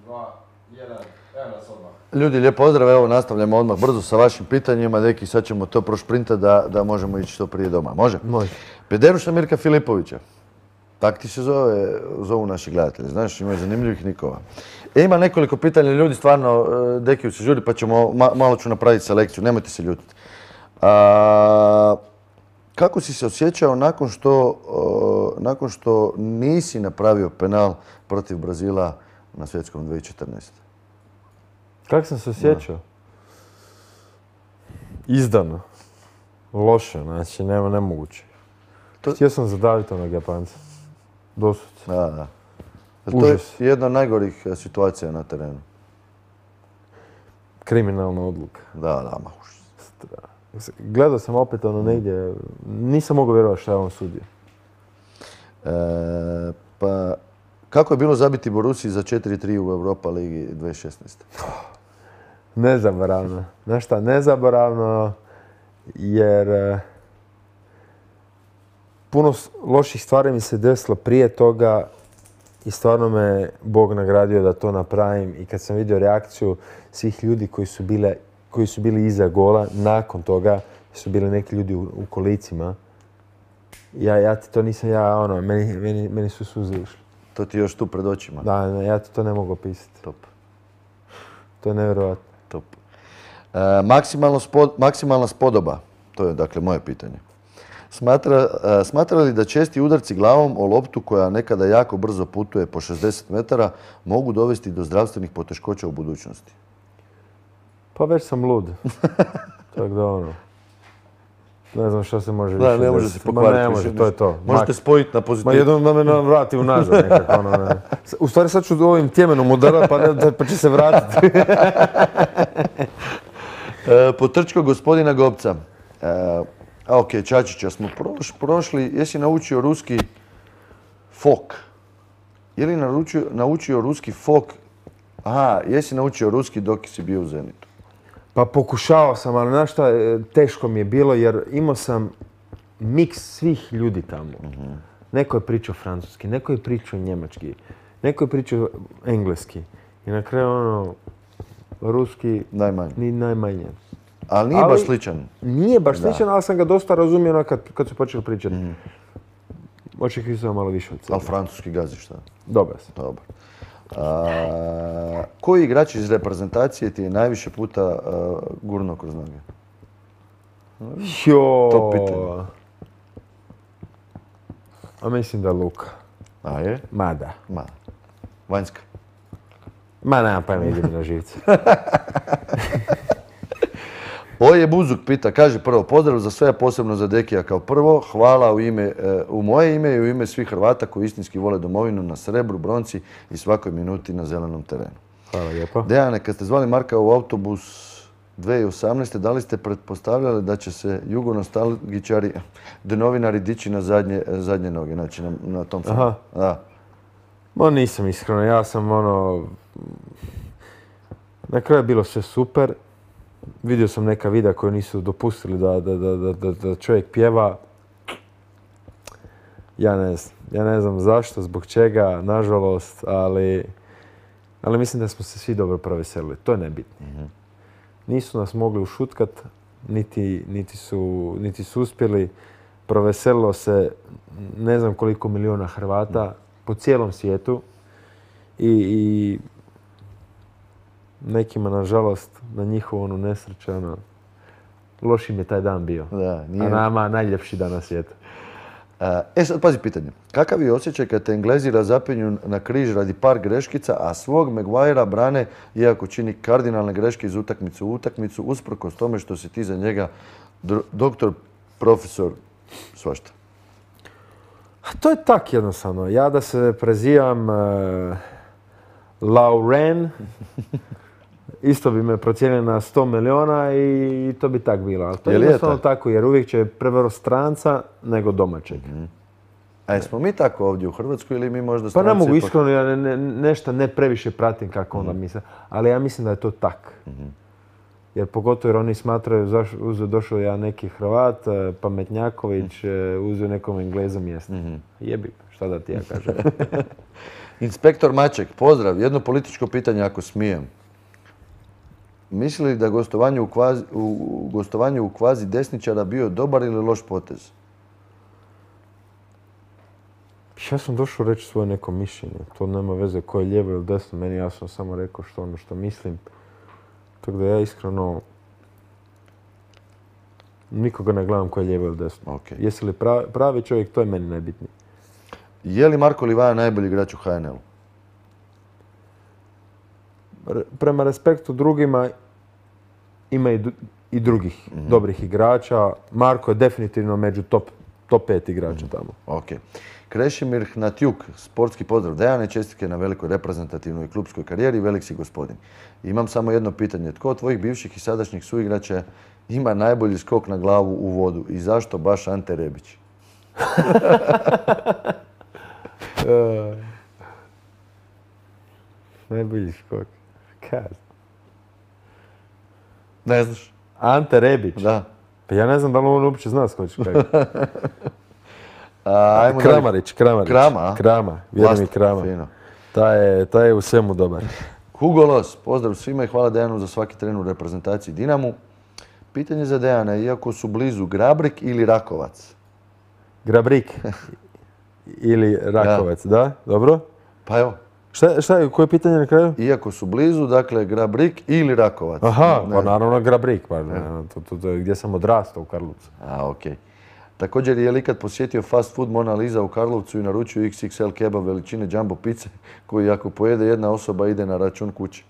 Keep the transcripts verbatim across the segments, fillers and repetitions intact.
dva, jedan, evo nas odmah. Ljudi, lijep pozdrav, evo nastavljamo odmah brzo sa vašim pitanjima, deki sad ćemo to prošprintati da, da možemo ići što prije doma. Može? Može. Pederuša Mirka Filipovića. Tak ti se zove, zovu naši gledatelji, znaš, ima zanimljivih nikova. E, ima nekoliko pitanja, ljudi stvarno, Dekiju se žuri, pa ćemo, ma, malo ću napraviti selekciju, nemojte se ljutiti. A, kako si se osjećao nakon što, o, nakon što nisi napravio penal protiv Brazila na svjetskom dvije tisuće četrnaeste? Kako sam se osjećao? Izdano. Loše, znači nema nemoguće. To... Htio sam zadaviti onog Japanca. Doslovce. Da, da. Užas. To je jedna od najgorih situacija na terenu. Kriminalna odluka. Da, da, ma užas. Gledao sam opet ono negdje, nisam mogao vjerovati šta je on sudio. E, pa, kako je bilo zabiti Borussiji za četiri tri u Europa ligi dvije tisuće šesnaeste? Nezaboravno. Znaš šta, nezaboravno jer puno loših stvari mi se desilo prije toga i stvarno me Bog nagradio da to napravim. I kad sam vidio reakciju svih ljudi koji su, bile, koji su bili iza gola, nakon toga su bili neki ljudi u, u kolicima. Ja, ja ti to nisam, ja ono, meni, meni, meni su suze išli. To ti još tu pred očima? Da, ne, ja ti to ne mogu opisati. Top. To je nevjerojatno. Top. E, maksimalno spod, maksimalna spodoba, to je dakle moje pitanje. Smatra, e, smatra li da česti udarci glavom o loptu koja nekada jako brzo putuje po šezdeset metara mogu dovesti do zdravstvenih poteškoća u budućnosti? Pa već sam lud. Tako da ono... Ne znam što se može više. Da, ne može se pokvariti. Ne može, to je to. Možete spojiti na pozitivu. Ma jednom da me vrati unazad nekako. Ono, ne. U stvari sad ću ovim tjemenom udarati pa, ne, pa će se vratiti. e, Potrčko gospodina Gobca. E, a ok, Čačića smo proš, prošli. Jesi naučio ruski fok? Je li naučio, naučio ruski fok? Aha, jesi naučio ruski dok si bio u Zenitu? Pa pokušao sam, ali znaš šta, teško mi je bilo jer imao sam miks svih ljudi tamo. Uh-huh. Neko je pričao francuski, neko je pričao njemački, neko je pričao engleski. I na kraju ono, ruski najmanje. Ni najmanje. Ali nije ali, baš sličan. Nije baš da. sličan, ali sam ga dosta razumio kad, kad su počeli pričati. Uh-huh. Očekivao sam malo više od sebe. Ali francuski gaziš, šta? Dobar sam. Dobar. A, koji igrač iz reprezentacije ti je najviše puta uh, gurno kroz noge? Jo. To pitanje. A mislim da Luka. A je? Ma da. Ma. Vanjska? Ma nemam pojma, ide mi na živce. Oje Buzuk pita, kaže prvo, pozdrav za sve, posebno za Dekija kao prvo. Hvala u, ime, u moje ime i u ime svih Hrvata koji istinski vole domovinu na srebru, bronci i svakoj minuti na zelenom terenu. Hvala lijepo. Dejane, kad ste zvali Marka u autobus dvije tisuće osamnaeste. da li ste pretpostavljali da će se jugonostalgičari, da novinari dići na zadnje, zadnje noge, znači na, na tom filmu? Aha. Da. Ma nisam iskreno, ja sam ono... Na kraju je bilo sve super. Vidio sam neka videa koje nisu dopustili da, da, da, da, da čovjek pjeva. Ja ne znam. Ja ne znam zašto, zbog čega, nažalost, ali, ali mislim da smo se svi dobro proveselili. To je nebitno. Mm-hmm. Nisu nas mogli ušutkat, niti, niti, su, niti su uspjeli. Proveselilo se ne znam koliko miliona Hrvata mm. po cijelom svijetu. I, i nekima, nažalost, na njihovu onu nesreću, ono, loš im je taj dan bio. Da, nije... A nama najljepši dan na svijetu. E sad, pazi pitanje. Kakav je osjećaj kad te Englezi razapinju na križ radi par greškica, a svog Maguirea brane, iako čini kardinalne greške iz utakmicu u utakmicu, usprkos tome što si ti za njega doktor, profesor, svašta? A to je tak jednostavno. Ja da se prezivam uh, Lauren, isto bi me procijenili na sto miliona i to bi tak bilo. Ali to je jednostavno tako, jer uvijek će prevaro stranca nego domaćeg. Mm-hmm. A jesmo mi tako ovdje u Hrvatskoj ili mi možda stranci... Pa ne mogu ipak... iskreno, ja ne, ne, nešto ne previše pratim kako onda mm-hmm. misle, ali ja mislim da je to tak. Mm-hmm. Jer pogotovo jer oni smatraju, zaš, uzeo došao ja neki Hrvat, Pametnjaković, mm-hmm. uzeo nekom Engleza mjesto. Mm-hmm. Jebi, šta da ti ja kažem. Inspektor Maček, pozdrav. Jedno političko pitanje ako smijem. Misli li da gostovanje u kvazi, u, gostovanje u kvazi desničara bio dobar ili loš potez? Ja sam došao reći svoje neko mišljenje. To nema veze ko je lijevo ili desno. Meni ja sam samo rekao što ono što mislim. Tako da ja iskreno nikoga ne gledam ko je lijevo ili desno. Okay. Jesi li pravi, pravi čovjek, to je meni najbitnije. Je li Marko Livaja najbolji igrač u H N L-u? Prema respektu drugima ima i, i drugih mm-hmm. dobrih igrača. Marko je definitivno među top, top pet igrača mm-hmm. tamo. Ok. Krešimir Hnatjuk, sportski pozdrav. Dejane, čestitke na velikoj reprezentativnoj klubskoj karijeri, velik si gospodin. Imam samo jedno pitanje. Tko od tvojih bivših i sadašnjih suigrača ima najbolji skok na glavu u vodu i zašto baš Ante Rebić? uh, najbolji skok. Kad? Ne znaš? Ante Rebić? Da. Pa ja ne znam da li on uopće zna skoči kako. A, Kramarić, Kramarić. Krama? Krama, vjerujem mi Krama. Fino. Ta je, ta je u svemu dobar. Hugo Los, pozdrav svima i hvala Dejanu za svaki tren u reprezentaciji Dinamu. Pitanje za Dejana, iako su blizu Grabrik ili Rakovac? Grabrik ili Rakovac, da. da? Dobro. Pa evo. Šta, šta je, koje pitanje na kraju? Iako su blizu, dakle, Grabrik ili Rakovac. Aha, ne. Pa naravno Grabrik, pa ne, to, to, to, gdje sam odrastao u Karlovcu. A, okej. Okay. Također je li ikad posjetio fast food Mona Lisa u Karlovcu i naručio iks iks el kebab veličine jumbo pice koji ako pojede jedna osoba ide na račun kući?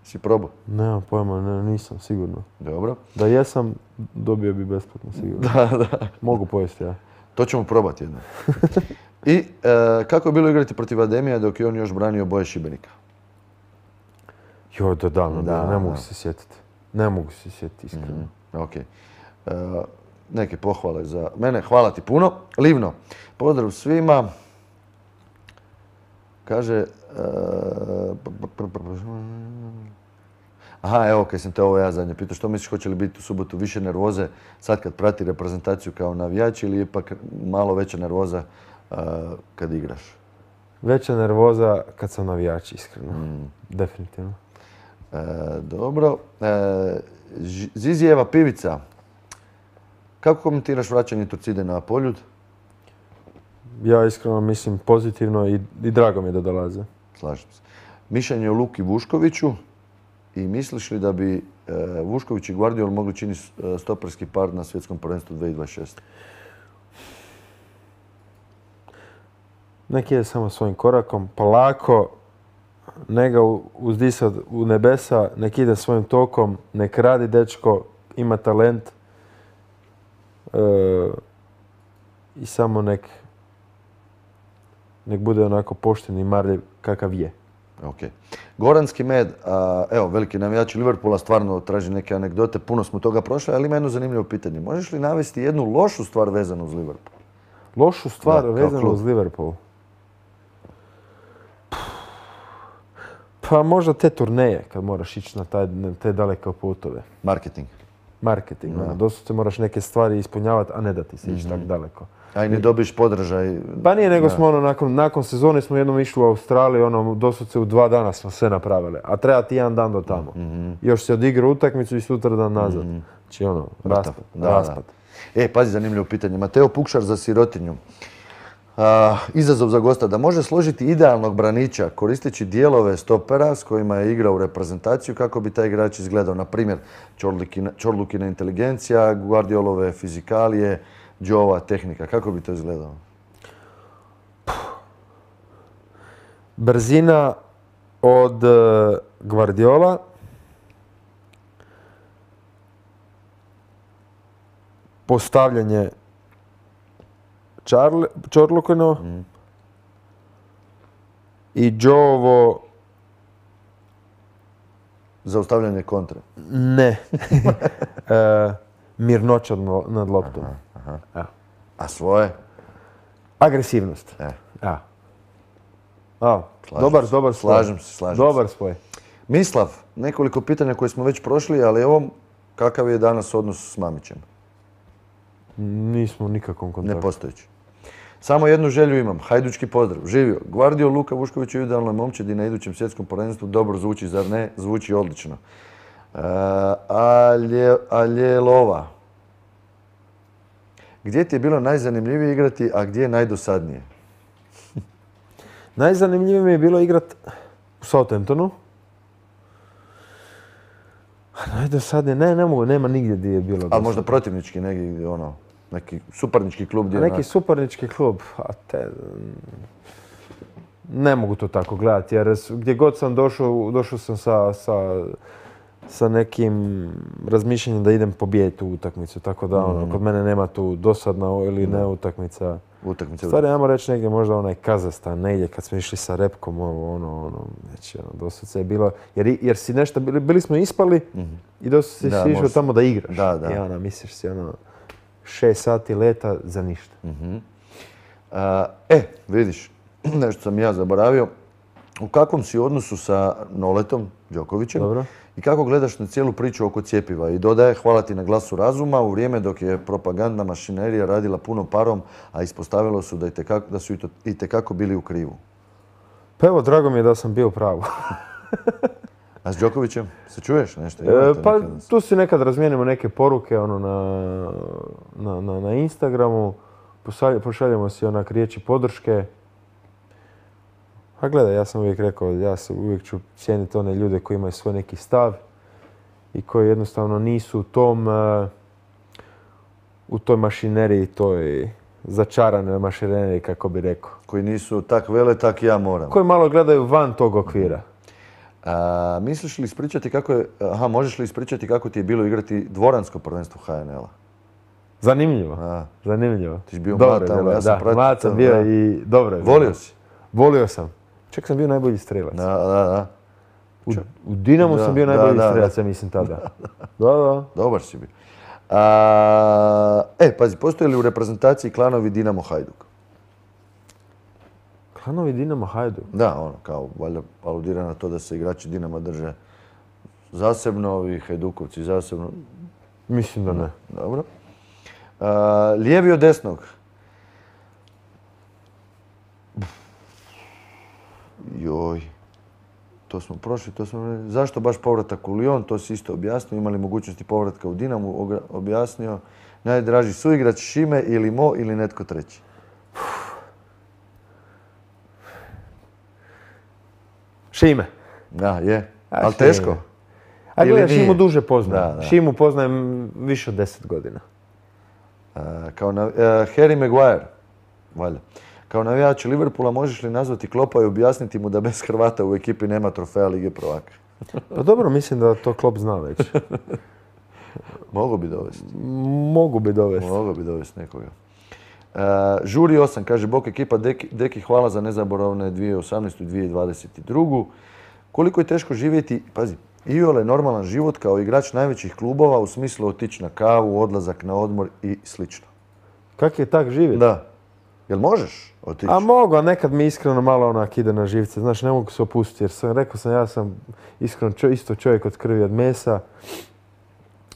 Si probao? Nemam pojma, ne, nisam sigurno. Dobro. Da jesam, dobio bi besplatno sigurno. Da, da. Mogu pojesti ja. To ćemo probati jedno. I e, kako je bilo igrati protiv Ademija dok je on još branio boje Šibenika? Jo, da davno, da, ne mogu da. se sjetiti. Ne mogu se sjetiti, iskreno. Mm-hmm. Ok. E, neke pohvale za mene. Hvala ti puno. Livno, pozdrav svima. Kaže... E, Aha, evo, kad sam te ovo ja zadnje pitao, što misliš, hoće li biti u subotu više nervoze sad kad prati reprezentaciju kao navijač ili ipak malo veća nervoza uh, kad igraš? Veća nervoza kad sam navijač, iskreno. Mm. Definitivno. E, dobro. E, Zizijeva pivica. Kako komentiraš vraćanje Torcide na Poljud? Ja iskreno mislim pozitivno i, i drago mi je da dolaze. Slažem se. Mišljenje o Luki Vuškoviću. I misliš li da bi e, Vušković i Guardiol mogli činiti stoperski par na svjetskom prvenstvu dvije tisuće dvadeset šeste? Nek ide samo svojim korakom, polako, ne ga uzdisat u nebesa, nek ide svojim tokom, nek radi dečko, ima talent e, i samo nek, nek bude onako pošten i marljiv kakav je. Okay. Goranski med, a, evo, veliki navijači Liverpoola stvarno traži neke anegdote, puno smo toga prošli, ali ima jedno zanimljivo pitanje. Možeš li navesti jednu lošu stvar vezanu uz Liverpool? Lošu stvar da, vezanu uz Liverpool? Pa možda te turneje, kad moraš ići na, taj, na te daleke putove. Marketing. Marketing, no. Doslovce moraš neke stvari ispunjavati, a ne da ti se ići mm-hmm. tako daleko. A i ne dobiš podržaj. Pa nije, nego smo ono, nakon, nakon sezone smo jednom išli u Australiju, ono, doslovce u dva dana smo sve napravili. A treba ti jedan dan do tamo. Mm-hmm. Još se odigra utakmicu i sutra dan nazad. Mm-hmm. Znači ono, raspad. Da, raspad. Da. E, pazi, zanimljivo pitanje. Mateo Pukšar za sirotinju. A, izazov za gosta da može složiti idealnog braniča koristeći dijelove stopera s kojima je igrao u reprezentaciju kako bi taj igrač izgledao. Na primjer, Čorlukina inteligencija, Guardiolove fizikalije, Joe-ova tehnika. Kako bi to izgledalo? Brzina od uh, Guardiola. Postavljanje Čorlukino mm. i Joe-ovo... Zaustavljanje kontre? Ne. e, mirnoća nad loptom. Aha, aha. A svoje? Agresivnost. E. Ja. A, dobar, se. dobar spoj. Slažem se, slažem dobar se. Spoj. Mislav, nekoliko pitanja koje smo već prošli, ali evo, kakav je danas odnos s Mamićem? Nismo u nikakvom kontaktu. Nepostojeći. Samo jednu želju imam, hajdučki pozdrav. Živio. Gvardio Luka Vušković je idealna momčadi na idućem svjetskom prvenstvu. Dobro zvuči, zar ne? Zvuči odlično. Uh, Alje, Aljelova. Gdje ti je bilo najzanimljivije igrati, a gdje je najdosadnije? Najzanimljivije mi je bilo igrat u Southamptonu. Najdosadnije, ne, ne mogu, nema nigdje gdje je bilo dosadnije. Ali možda protivnički, neki, ono, neki suparnički klub gdje... Neki suparnički klub, a te... Ne mogu to tako gledati, jer gdje god sam došao, došao sam sa, sa, sa nekim razmišljanjem da idem pobijediti u utakmicu, tako da ono, kod mene nema tu dosadna ili ne utakmica. Utakmice. Stvari, ajmo reći negdje možda onaj Kazahstan, negdje kad smo išli sa repkom, ovo, ono, ono, znači, ono, dosad je bilo, jer, jer si nešto, bili, bili smo ispali mm-hmm. i dosad si išao tamo da igraš. Da, da. I ono, misliš si, ono, šest sati leta za ništa. Mm-hmm. Uh, e, vidiš, nešto sam ja zaboravio. U kakvom si odnosu sa Noletom Đokovićem? Dobro. I kako gledaš na cijelu priču oko cjepiva? I dodaje, hvala ti na glasu razuma, u vrijeme dok je propagandna mašinerija radila puno parom, a ispostavilo su da, itekako, da su itekako bili u krivu. Pa evo, drago mi je da sam bio u pravu. A s Đokovićem se čuješ nešto? E, pa tu si nekad razmijenimo neke poruke ono, na, na, na, na Instagramu, pošaljemo si onak riječi podrške. A gledaj, ja sam uvijek rekao, ja sam uvijek ću cijeniti one ljude koji imaju svoj neki stav i koji jednostavno nisu u tom, uh, u toj mašineriji, toj začaranoj mašineriji, kako bi rekao. Koji nisu tak vele, tak ja moram. Koji malo gledaju van tog okvira. A, misliš li ispričati kako je, aha, možeš li ispričati kako ti je bilo igrati dvoransko prvenstvo H N L-a? Zanimljivo, A. zanimljivo. Ti si bio dobro mlad tamo, ja sam da, pratio. Mlad sam bio da. I dobro je. Volio si? Volio sam. Čak sam bio najbolji strelac. Da, da, da. U, u Dinamu da, sam bio najbolji da, strelac, ja mislim tada. Da, da. Dobar si bio. A, e, pazi, postoje li u reprezentaciji klanovi Dinamo Hajduk? Klanovi Dinamo Hajduk? Da, ono, kao, valjda aludira na to da se igrači Dinama drže zasebno, ovi Hajdukovci zasebno. Mislim da ne. Dobro. A, lijevi od desnog? Joj, to smo prošli, to smo... Zašto baš povratak u Lyon, to si isto objasnio, imali mogućnosti povratka u Dinamu, objasnio. Najdraži suigrač Šime ili Mo ili netko treći? Šime. Da, je. Ali teško? A gledaj, Šimu duže poznajem. Šimu poznajem više od deset godina. A, kao na, uh, Harry Maguire, valjda. Kao navijač Liverpoola možeš li nazvati Kloppa i objasniti mu da bez Hrvata u ekipi nema trofeja Lige prvaka? Pa dobro, mislim da to Klopp zna već. Mogu bi dovesti. Mogu bi dovesti. Mogu bi dovesti nekoga. Uh, Žuri osam, kaže Bok ekipa, Deki, Deki hvala za nezaboravne dvije tisuće osamnaestu i dvije tisuće dvadeset drugu. Koliko je teško živjeti, pazi, iole normalan život kao igrač najvećih klubova u smislu otići na kavu, odlazak na odmor i slično. Kak je tak živjeti? Da. Jel možeš otići? A mogu, a nekad mi iskreno malo onak ide na živce. Znaš, ne mogu se opustiti jer sam, rekao sam, ja sam iskreno čo, isto čovjek od krvi od mesa.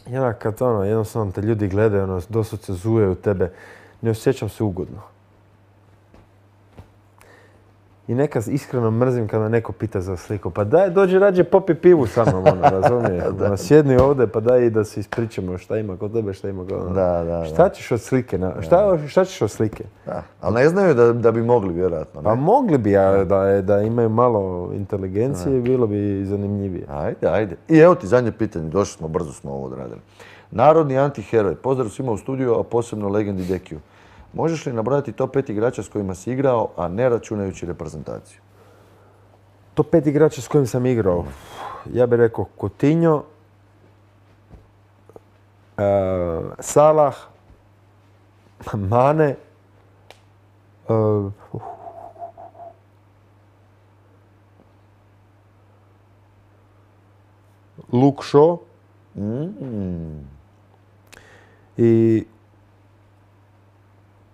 I onak kad ono, jednostavno te ljudi gledaju, ono, doslovce zuje u tebe, ne osjećam se ugodno. I nekad iskreno mrzim kada me neko pita za sliku. Pa daj, dođi rađe popi pivu sa mnom, ono, razumiješ? Ono, sjedni ovdje pa daj i da se ispričamo šta ima kod tebe, šta ima kod ono. Da, da, šta ćeš od slike? Na, šta, šta ćeš od slike? Da, ali ne znaju da, da bi mogli, vjerojatno. Ne? Pa mogli bi, ja, da, da imaju malo inteligencije, bilo bi zanimljivije. Ajde, ajde. I evo ti zadnje pitanje, došli smo, brzo smo ovo odradili. Narodni antiheroj, pozdrav svima u studiju, a posebno legendi Dekiju. Možeš li nabrojati top pet igrača s kojima si igrao, a ne računajući reprezentaciju? Top pet igrača s kojim sam igrao? Ja bih rekao Coutinho, uh, Salah, Mane, uh, Luke Shaw Mm. i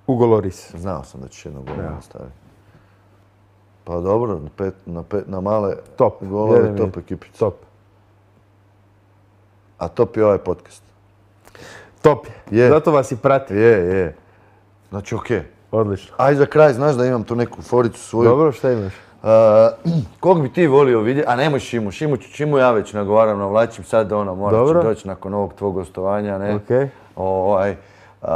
Hugo Lloris. Znao sam da ćeš jednog gola staviti. Pa dobro, na, pet, na, pet, na male top. golove, top ekipice. Top. A top je ovaj podcast. Top je. je. Zato vas i prati. Je, je. Znači, okej. Okay. Odlično. Aj za kraj, znaš da imam tu neku foricu svoju. Dobro, šta imaš? Uh, kog bi ti volio vidjeti, a nemoj Šimu, Šimu, Šimu ja već nagovaram, navlačim sad ono, morat ću doći nakon ovog tvog gostovanja, ne? Okay. Ovaj, uh,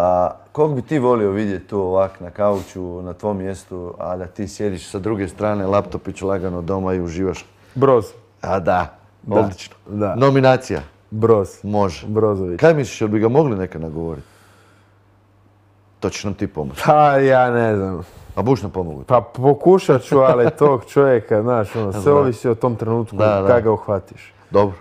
kog bi ti volio vidjeti tu ovak na kauču, na tvom mjestu, a da ti sjediš sa druge strane, laptopić lagano doma i uživaš? Broz. A da, da. odlično. Da. Nominacija? Broz. Može. Brozović. Kaj misliš, jel bi ga mogli neka nagovoriti? To ćeš nam ti pomoći. Pa ja ne znam. A buš nam pomogu? Pa pokušat ću, ali tog čovjeka, znaš, ono, sve ovisi o tom trenutku kada ga uhvatiš. Dobro.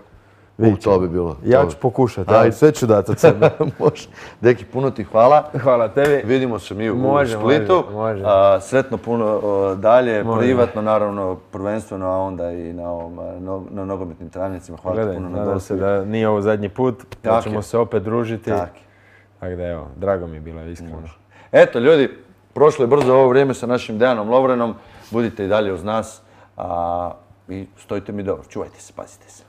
U, to bi bilo. Ja ću pokušati, ali sve ću dati od sebe. Može. Deki, puno ti hvala. Hvala tebi. Vidimo se mi u može, Splitu. Može, može. A, sretno puno o, dalje, može. Privatno, naravno, prvenstveno, a onda i na, ovom, no, na nogometnim travnicima. Hvala Gledaj, ti puno na nadam dosta. se da nije ovo zadnji put, da ćemo je. se opet družiti. Tako. Tako da evo, drago mi je bilo, iskreno. Može. Eto, ljudi, prošlo je brzo ovo vrijeme sa našim Dejanom Lovrenom. Budite i dalje uz nas a, i stojite mi dobro. Čuvajte se, pazite se.